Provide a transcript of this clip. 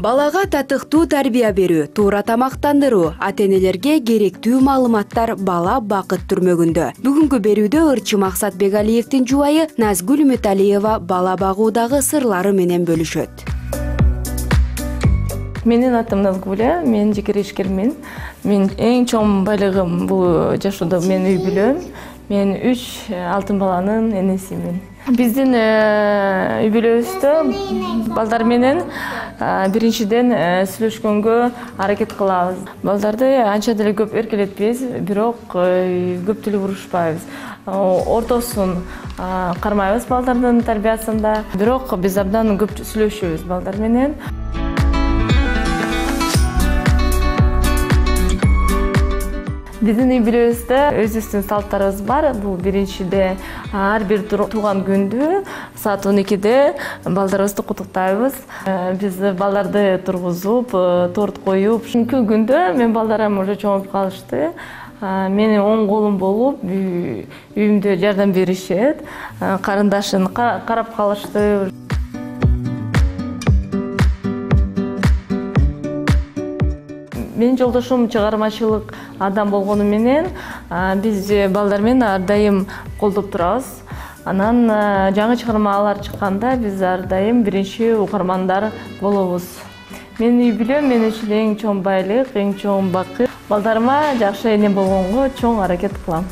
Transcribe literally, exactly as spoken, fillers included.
Балага татыктуу тарбия берүү, туура тамактандыруу, ата-энелерге керектүү маалыматтар бала бакыт түрмөгүндө. Бүгүнкү берүүдө ырчы Максат Бегалиевдин жубайы Назгүл Үмүталиева бала багуудагы сырлары менен бөлүшөт. Менин атым Назгүл, мен жеке ишкермин. Мен эң чоң байлыгым бул жашоодо мен үй бүлөм. Мен үч алтын баланын энесимин. Биздин үй бүлөбүздө балдар менен биринчиден сүйлөшкөнгө аракет кылабыз. Балдарды анча деле көп эркелетпейбиз, бирок көп тил урушпайбыз. Ортосун кармайбыз балдардын тарбиясында. Бирок биз абдан көп сүйлөшөбүз балдар менен. Биздин үй бүлөбүздө өзүбүздүн салттарыбыз бар. Бул биринчиде ар бир тууган күндү саат он экиде балдарыбызды куттуктайбыз. Биз балдарды тургузуп, торт коюп, ушункү күндө мен балдарым уже чоңоюп калышты. Менин оң колум болуп, үйүмдө жардам беришет. Карындашын карап калышты. Менин жолдошум чыгармачылык адам болгону менен биз балдар менен ар дайым колдоп турабыз. Анан жаңы чыгармалар чыкканда биз ар дайым биринчи угармандар болобуз. Менин үй бүлөм мен үчүн эң чоң байлык, эң чоң бакыт. Балдарыма жакшы эне болгонго чоң аракет кылам.